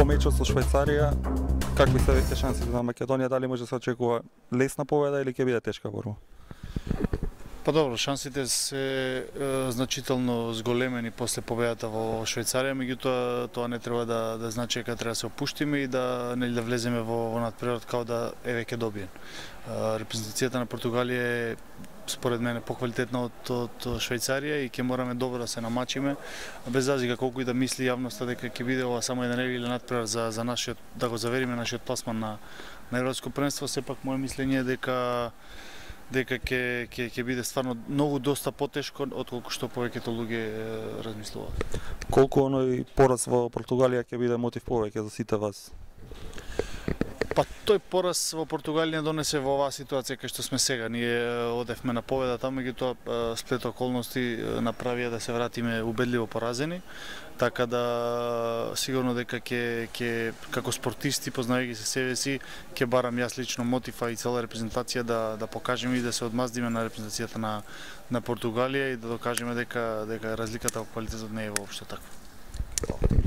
По мечот со Швајцарија, какви се веќе шансите на Македонија, дали може да се очекува лесна победа или ќе биде тешка борба? Па добро, шансите се значително зголемени после победата во Швајцарија, меѓутоа тоа не треба да значи дека треба да се опуштиме и да влеземе во надпревар као да е веќе добиен. Репрезентацијата на Португалија е според мене поквалитетна од Швајцарија и ќе мораме добро да се намачиме, без разлика колку и да мисли јавноста дека ќе биде ова само една или надпревар за нашиот, да го завериме нашиот пласман на Европско првенство, сепак моје мислење е дека ќе биде стварно многу доста потешко отколку што повеќето луѓе размислуваат. Колку оној пораз во Португалија ќе биде мотив повеќе за сите вас? Па тој пораз во Португалија донесе во оваа ситуација кај што сме сега. Ние одевме на победа, меѓутоа сплет околности направија да се вратиме убедливо поразени, така да сигурно дека ќе како спортисти, познајќи се себе си, ќе барам јас лично мотив и цела репрезентација да покажеме и да се одмаздиме на репрезентацијата на Португалија и да докажеме дека разликата во квалитетот не е воопшто таква.